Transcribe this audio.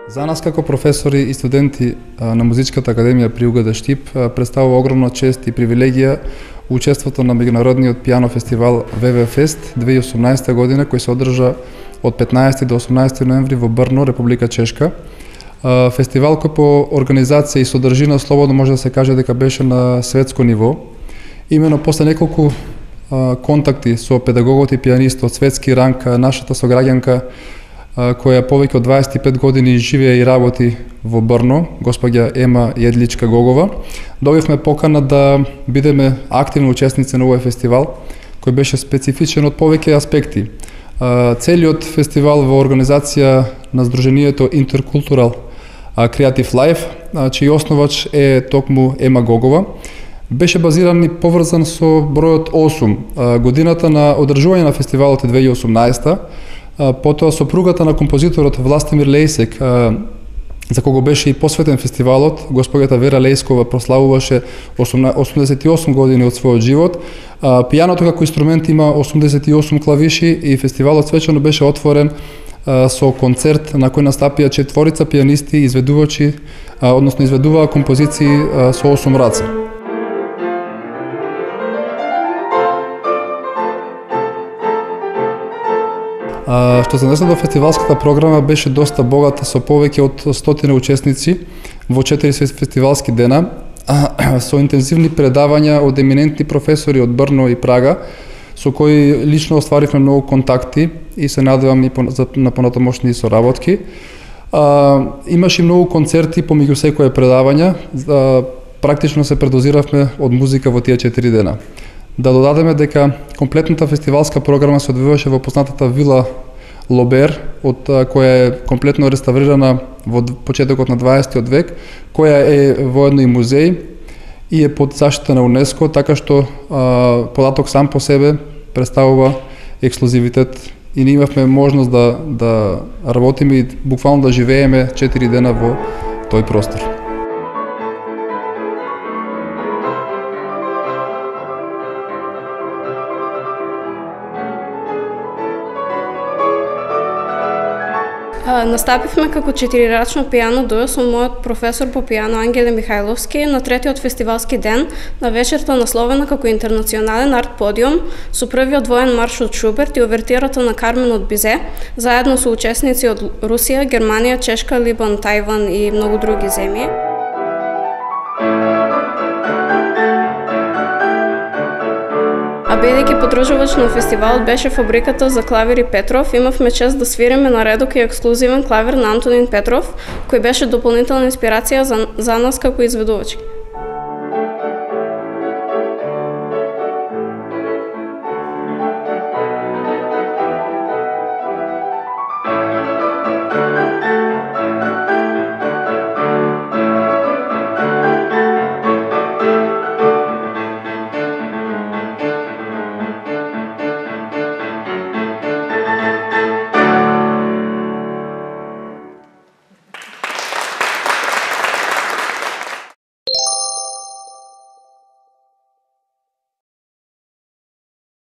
За нас како професори и студенти на Музичката академија при УГД Штип представува огромна чест и привилегија учеството на меѓународниот пијано фестивал ВВФест 2018 година, кој се одржа од 15 до 18 ноември во Брно, Република Чешка. Фестивал кој по организација и содржина слободно може да се каже дека беше на светско ниво. Имено после неколку контакти со педагогот и пијанист од светски ранг, нашата сограѓанка која повеќе од 25 години живее и работи во Брно, госпоѓа Ема Једличка Гогова, добивме покана да бидеме активни учесници на овој фестивал, кој беше специфичен од повеќе аспекти. Целиот фестивал во организација на Сдруженијето Intercultural Creative Life, чиј основач е токму Ема Гогова, беше базиран и поврзан со бројот 8. Годината на одржување на фестивалот е 2018. Потоа сопругата на композиторот Властимир Лејсек, за кого беше и посветен фестивалот, госпоѓата Вера Лејскова, прославуваше 88 години од својот живот. Пијаното како инструмент има 88 клавиши и фестивалот свечено беше отворен со концерт на кој настапија 4 пијанисти изведувачи, односно изведуваа композиции со 8 раце. Што се однесе до фестивалската програма, беше доста богата со повеќе од 100 учесници во 4 фестивалски дена, со интензивни предавања од еминентни професори од Брно и Прага, со кои лично остваривме многу контакти и се надевам и на понатамошни соработки. Имаше многу концерти помеѓу секое предавање, практично се предозиравме од музика во тие 4 дена. Да додадеме дека комплетната фестивалска програма се одвиваше во познатата вила Лобер, од која е комплетно реставрирана во почетокот на 20 век, која е воедно и музеј и е под заштита на УНЕСКО, така што податок сам по себе представува ексклузивитет и ние имавме можност да работиме и буквално да живееме 4 дена во тој простор. Настапивме како 4-рачно пијано дуо со мојот професор по пијано Ангеле Михајловски на третиот фестивалски ден, на вечерта насловена како интернационален арт подиум, со првиот воен марш од Шуберт и овертирата на Кармен од Бизе, заедно со учесници од Русија, Германија, Чешка, Либан, Тајван и многу други земји. А бидејќи подржувач на фестивалот беше фабриката за клавири Петров, имавме чест да свириме на редок и ексклузивен клавир на Антонин Петров, кој беше дополнителна инспирација за нас како изведувачи.